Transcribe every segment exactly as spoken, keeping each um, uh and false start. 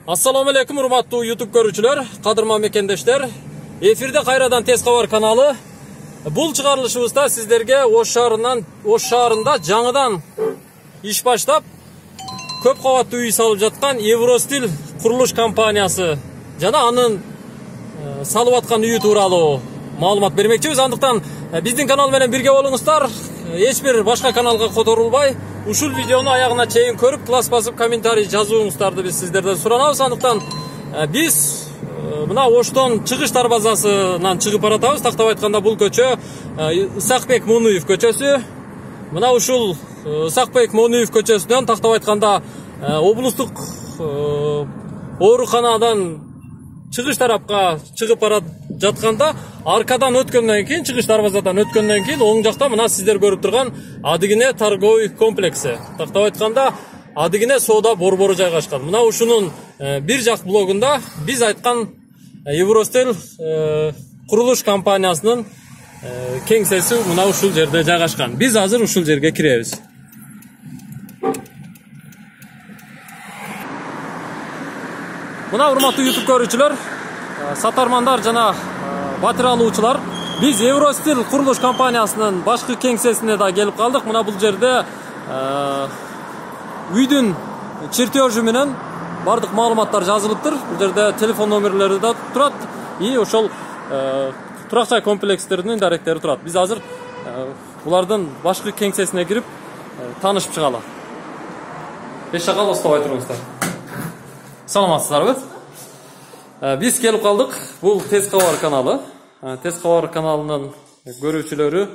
Assalamu alaikum урматтуу YouTube көрүүчүлөр, кадырман мекендештер. Эфирде кайрадан Тез кабар каналы. Бул чыгарылышыбызда сиздерге Ош шаарынан, Ош шаарында жаңыдан иш баштап көп кабаттуу үй салып жаткан Евростиль курулуш компаниясы жана анын салып аткан үйү тууралуу маалымат бермекчибиз. Андыктан биздин канал менен бирге болуңуздар. Эч бир башка каналга которулбай, ушул видеону аягына чейин көрүп, класс басып, комментарий жазууңуздарды биз сиздерден суранабыз. Андыктан биз мына Оштон чыгыш дарбазасынан чыгып баратабыз. Тактап айтканда бул көчө Исакбек Монуев көчөсү. Мына ушул Исакбек Монуев көчөсүнөн тактап айтканда облустук ооруканадан чыгыш тарапка чыгып бара жатканда, аркадан өткөндөн кийин, чыгыш дарбазадан өткөндөн кийин оң жакта мына сиздер көрүп турган Адыгине торговый комплекси. Тактап айтканда Адыгине соода борбору жайгашкан. Мына ушунун бир жак блогунда биз айткан Евростиль курулуш компаниясынын кеңсеси мына ушул жерде жайгашкан. Биз азыр ушул жерге киребиз. Мына урматтуу YouTube көрүүчүлөр, сатармандар жана батир алуучулар, биз Евростиль курулуш компаниясынын башкы кеңсесине да келип калдык. Мына бул жерде үйдүн чертежи менен бардык маалыматтар жазылыптыр. Бул жерде телефон номерлери да турат и ошол турак жай комплекстеринин даректери турат. Биз азыр булардын башкы кеңсесине кирип таанышып чыгалы. Беш шагал остабай туруңуздар. Саламатсыздарбы? Биз келип калдык. Бул Тез кабар каналы. Тез кабар каналынын көрүүчүлөрү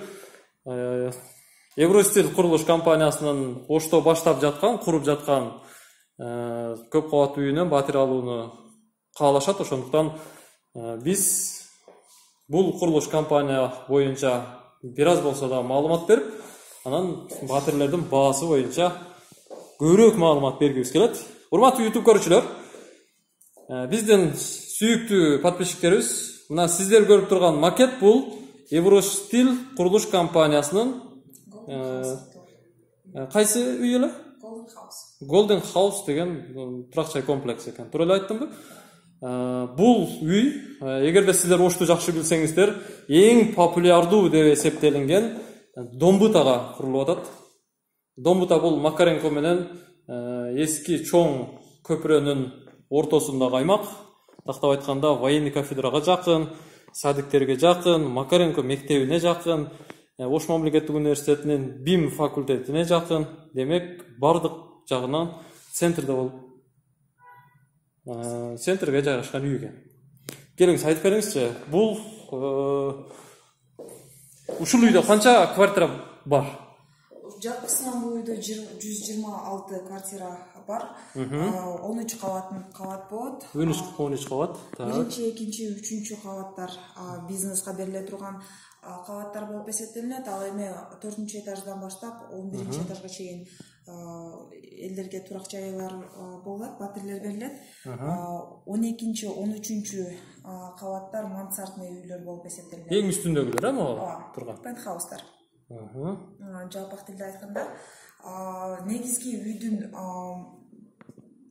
Евростиль курулуш компаниясынын Ошто баштап жаткан, куруп жаткан көп кабаттуу үйүнөн батир алууну каалашат. Ошондуктан биз бул курулуш компания боюнча бир аз болсо да маалымат берип, анан батирлердин баасы боюнча көбүрөөк маалымат бергибиз келет. Урматтуу YouTube көрүүчүлөр, биздин сүйүктүү подписчиктерибиз, мына сиздер көрүп турган макет бул Евростиль курулуш компаниясынын кайсы үй эле? Golden House. Golden House деген турак жай комплекс экен. Туура эле айттымбы? Бул үй, эгерде сиздер Ошту жакшы билсеңиздер, эң популярдуу деп эсептелинген Домбутага курулуп атат. Домбута бул Макаренко менен эски чоң көпүрөнүн ортосундагы аймак. Тактап айтканда военный кафедрага жакын, садиктерге жакын, Макаренко мектебине жакын, Ош мамлекеттик университетинин БИМ факультетине жакын. Демек, бардык жагынан центрде болуп, центрге жайгашкан үй экен. Келиңиз айтып бериңизчи, бул ушул үйдө канча квартира бар? Жалпысынан бул үйдө жүз жыйырма алты квартира бар. он үч кабат болот. он үч кабат. Биринчи, экинчи, үчүнчү кабаттар бизнеске бериле турган кабаттар болуп эсептелинет. Ал эми төртүнчү этаждан баштап он биринчи этажга чейин элдерге турак жайлар болот, батирлер берилет. он экинчи, он үчүнчү кабаттар мансардный үйлөр болуп эсептелинет. Эң үстүндөгүлөр эми турган? Пентхаустар. Жалпак тилде айтканда, негизги үйдүн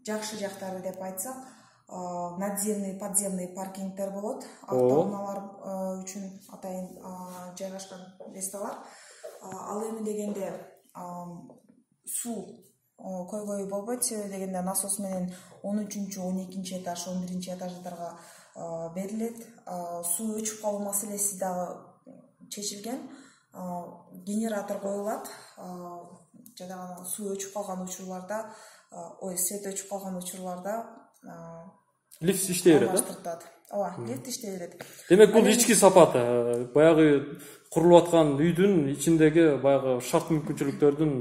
жакшы жактары деп айтсак, надземный, подземный паркингдер болот. Автоунаалар үчүн атайын жайгашкан месталар. Ал эми дегенде суу көйгөй болбойт, дегенде насос менен он үчүнчү, он экинчи этаж, он биринчи этаждарга берилет. Суу өчүп калуу маселеси дагы чечилген. Генератор коюлат. Жана суу өчүп калган учурларда, ой, свет өчүп калган учурларда лифт иштей берет. Ооба, лифт иштей берет. Демек, бул ички сапат. Баягы курулуп аткан үйдүн ичиндеги баягы шарт мүмкүнчүлүктөрдүн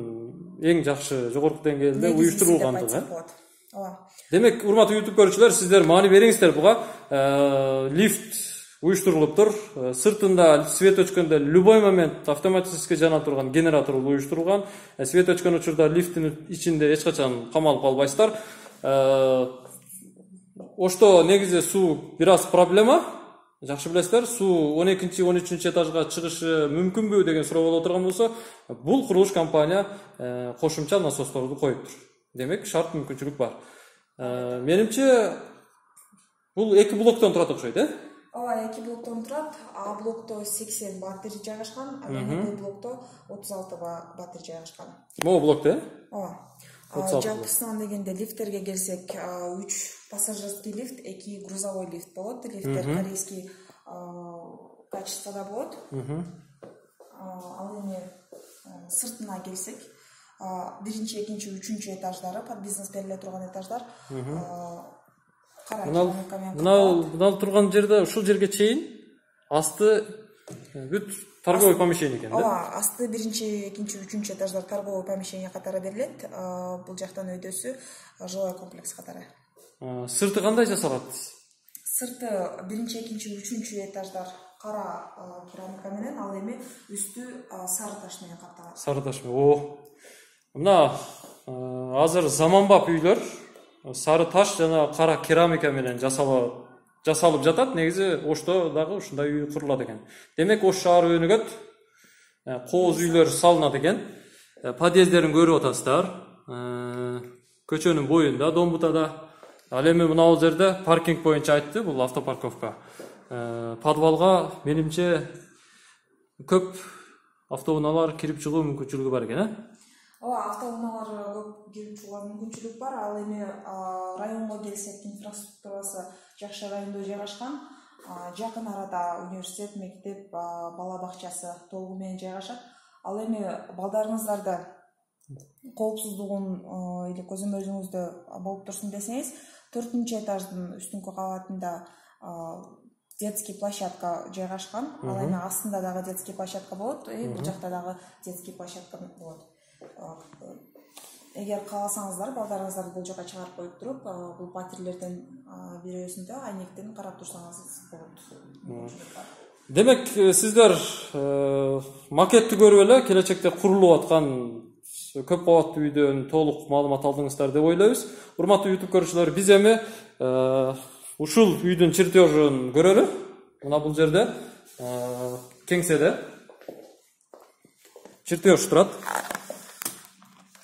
эң жакшы, жогорку деңгээлде уюштурулгандыгы. Ооба. Демек, урматтуу YouTube көрүүчүлөр, сиздер маани бериңиздер буга. Лифт уюштурулуптур. Сыртында свет өчкөндө любой момент автоматически жана турган генератор уюштурулган. Свет өчкөн учурда лифттин ичинде эч качан камалып калбайсыздар. Ошто негизи суу бир аз проблема. Жакшы билесиздер, суу он экинчи, он үчүнчү этажга чыгышы мүмкүнбү деген суроо боло турган болсо, бул курулуш компания кошумча насосторду коюптур. Демек, шарт мүмкүнчүлүк бар. Менимче бул эки блоктон турат окшойт, э? Ооба, эки блоктон турат. А блокто сексен батарей жайгашкан, а Б блокто отуз алты батарей жайгашкан. Могу блокто, э? Ооба. Жалпысынан дегенде лифттерге келсек, үч пассажирский лифт, эки грузовой лифт болот. Лифттер корейский качествода болот. Ал эми сыртына келсек, биринчи, экинчи, үчүнчү этаждары, под бизнес бериле турган этаждар кара керамика менен. Мына турган жерде, ушул жерге чейин асты бүт торговый помещение экен, да? Ооба, асты биринчи, экинчи, үчүнчү этаждар торговый помещение катары берилет. Бул жактан өйдөсү жилой комплекс катары. Сырты кандай жасалат? Сырты биринчи, экинчи, үчүнчү этаждар кара керамика менен, ал эми үстү сары таш менен капталат. Сары таш менен. О. Мына азыр заманбап үйлөр сары таш жана кара керамика менен жасалып жасалып жатат. Негизи Ошто дагы ушундай үй курулат экен. Демек Ош шаары өнүгөт. Кооз үйлөр салынат экен. Подъездерин көрүп атасыздар. Көчөнүн боюнда, Домбутада. Ал эми мына бул жерде паркинг боюнча айтты, бул автопарковка. Подвалга менимче көп автоунаалар кирип чыгуу мүмкүнчүлүгү бар экен, э? Ооба, автоунаалар көп кирип чыгууга мүмкүнчүлүк бар. Ал эми районго келсек, инфраструктурасы жакшы райондо жайгашкан. Жакын арада университет, мектеп, бала бакчасы толугу менен жайгашат. Ал эми балдарыңыздарды коопсуздугун или көзөмөлүңүздө болуп турсун десеңиз, төртүнчү этаждын үстүнкү кабатында детский площадка жайгашкан. Ал эми астында дагы детский площадка болот, бул жакта дагы детский площадка болот. Эгер кааласаңыздар, балдарыңыздарды бул жака чыгарып коюп туруп, бул батирелерден бирөөсүндө айнектен карап турсаңыз болот. Демек, сиздер макетти көрүп эле келечекте курулуп аткан көп кабаттуу үйдөн толук маалымат алдыңыздар деп ойлойбуз. Урматтуу YouTube көрүүчүлөр, биз эми ушул үйдүн чертежин көрөлү. Мына бул жерде кеңседе чертеж турат.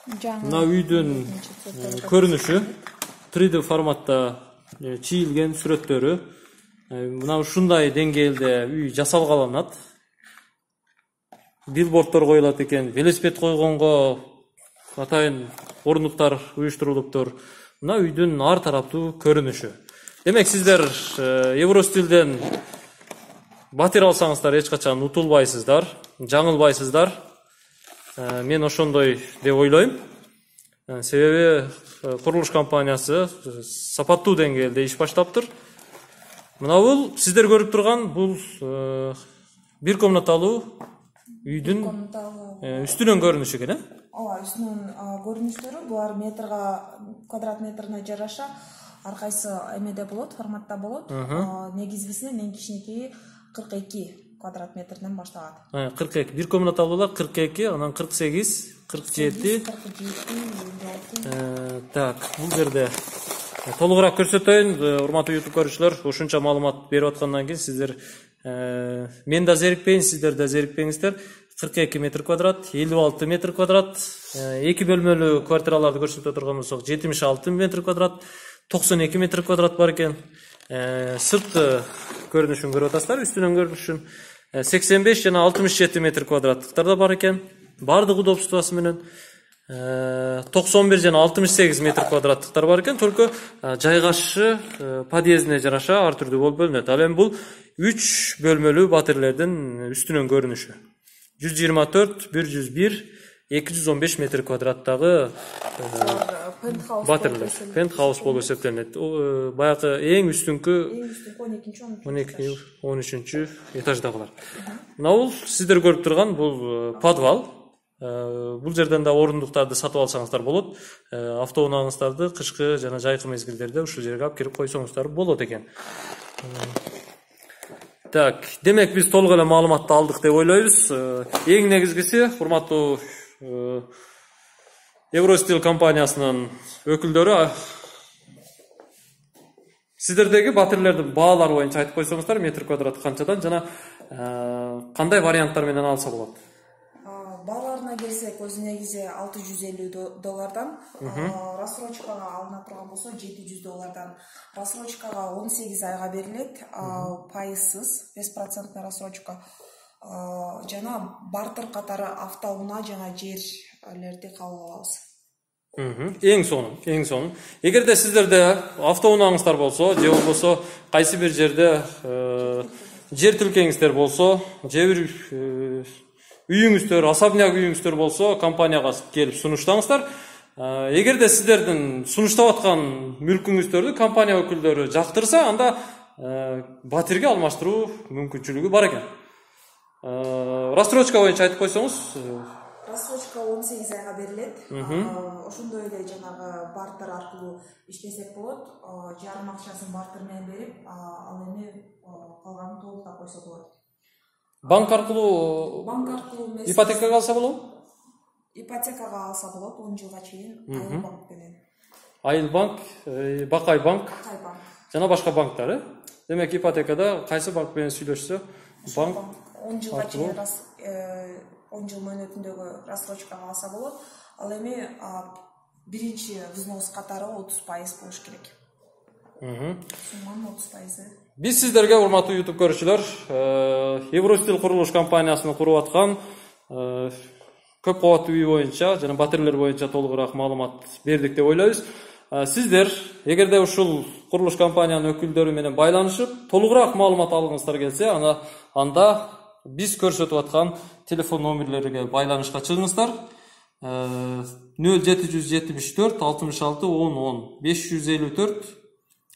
Мына үйдүн көрүнүшү три дэ форматта чийилген сүрөттөрү. Мына ушундай деңгээлде үй жасалгаланат. Билбордтор коюлат экен, велосипед койгонго атайын орнуктар уюштурулуптур. Мына үйдүн ар тараптуу көрүнүшү. Демек, сиздер Евростилден батир алсаңыздар эч качан утулбайсыздар, жаңылбайсыздар. Мен ошондой деп ойлойм. Себеби курулуш компаниясы сапаттуу деңгээлде иш баштаптыр. Мына бул сиздер көрүп турган бул бир комнаталуу үйдүн үстүнөн көрүнүшү экен, э? Ооба, үстүнөн көрүнүштөрү булар метрга, квадрат метрине жараша ар кайсы эмеде болот, форматта болот. Негизгисинен эң кичинекейи кырк эки квадрат метрден башталат. кырк эки, бир комнаталуулар кырк эки, анан кырк сегиз, кырк жети. Так, бул жерде толугураак көрсөтөйүн. Урматтуу YouTube көрүүчүлөр, ушунча маалымат берип аткандан кийин сиздер мен да зерикпейин, сиздер да зерикпеңиздер. кырк эки метр квадрат, элүү алты метр квадрат, эки бөлмөлүү квартираларды көрсөтө турган болсок, жетимиш алты метр квадрат, токсон эки метр квадрат бар экен. Сыртты көрүнүшүн көрүп атасыздар, үстүнөн көрүнүшүн. сексен беш жана алтымыш жети метр квадраттыктар да бар экен. Бардык удобствосу менен. токсон бир жана алтымыш сегиз метр квадраттыктар бар экен. Только жайгашышы подъездине жараша ар түрдүү болуп бөлүнөт. Ал эми бул үч бөлмөлүү батирлердин үстүнөн көрүнүшү. жүз жыйырма төрт, бир жүз бир, эки жүз он беш метр квадраттагы батирлер. Пентхаус болуп эсептелинет. Баягы эң үстүнкү он эки, он үчүнчү этаждагылар. Мына бул сиздер көрүп турган бул подвал. Бул жерден да орундуктарды сатып алсаңыздар болот. Автоунааңыздарды кышкы жана жайкы мезгилдерде ушул жерге алып кирип койсоңуздар болот экен. Так, демек биз толук эле маалыматты алдык деп ойлойбуз. Эң негизгиси, урматтуу Евростил компаниясынын өкүлдөрү, сиздердеги батирлердин баалары боюнча айтып койсоңуздар, метр квадрат канчадан жана кандай варианттар менен алса болот? Бааларына келсек, берсек өз негизи алты жүз элүү доллардан, рассрочкага алына турган болсо жети жүз доллардан. Рассрочкага он сегиз айга берилет, пайызсыз, беш проценттүү рассрочка. Жана бартер катары автоунаа жана жерлерди кабыл алабыз. Эң сонун, эң сонун. Эгерде сиздерде автоунааңыздар болсо, же болбосо кайсы бир жерде жер тилкеңиздер болсо, же бир үйүңүздөр, особняк үйүңүздөр болсо, компанияга келип сунуштаңыздар. Эгерде сиздердин сунуштап аткан мүлкүңүздөрдү компания өкүлдөрү жактырса, анда батирге алмаштыруу мүмкүнчүлүгү бар экен. Рассрочка боюнча айтып койсоңуз. Рассрочка он сегиз айга берилет. Ошондой эле жанагы бартер аркылуу иштесек болот. Жарым акчасын бартер менен берип, ал эми калганын толуктап койсо болот. Банк аркылуу банк аркылуу эмес. Ипотекага алса болобу? Ипотекага алса болот он жылга чейин Айыл банк менен. Айыл банк, Бакай банк. Бакай банк. Жана башка банктар, э? Демек ипотекада кайсы банк менен сүйлөшсө, банк он жылга чейин он жыл мөөнөтүндөгү рассрочкага алса болот. Ал эми биринчи взнос катары отуз пайыз болуш керек. Сумманын отуз пайызы. Биз сиздерге, урматтуу YouTube көрүүчүлөр, Евростил курулуш компаниясынын куруп аткан көп кабаттуу үй боюнча жана батирлер боюнча толугураак маалымат бердик деп ойлойбуз. Сиздер эгерде ушул курулуш компаниянын өкүлдөрү менен байланышып, толугураак маалымат алгыңыздар келсе, анда анда биз көрсөтүп аткан телефон номерлерге байланышка чыгыңыздар. нөл жети жүз жетимиш төрт алтымыш алты он он, беш жүз элүү төрт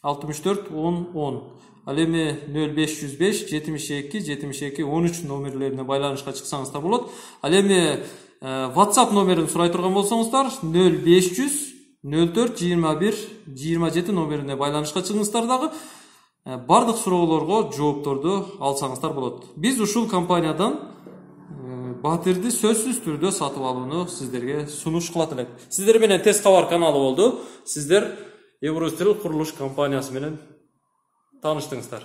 алтымыш төрт он он. Ал эми нөл беш жүз беш жетимиш эки жетимиш эки он үч номерлерине байланышка чыксаңыздар болот. Ал эми WhatsApp номерин сурай турган болсоңуздар нөл беш жүз нөл төрт жыйырма бир жыйырма жети номерине байланышка чыгыңыздар дагы бардык суроолорго жоопторду алсаңыздар болот. Биз ушул компаниядан батирди сөзсүз түрдө сатып алууну сиздерге сунуш кылат элек. Сиздер менен Тез кабар каналы болду. Сиздер Евростил курулуш компаниясы менен тааныштыңыздар.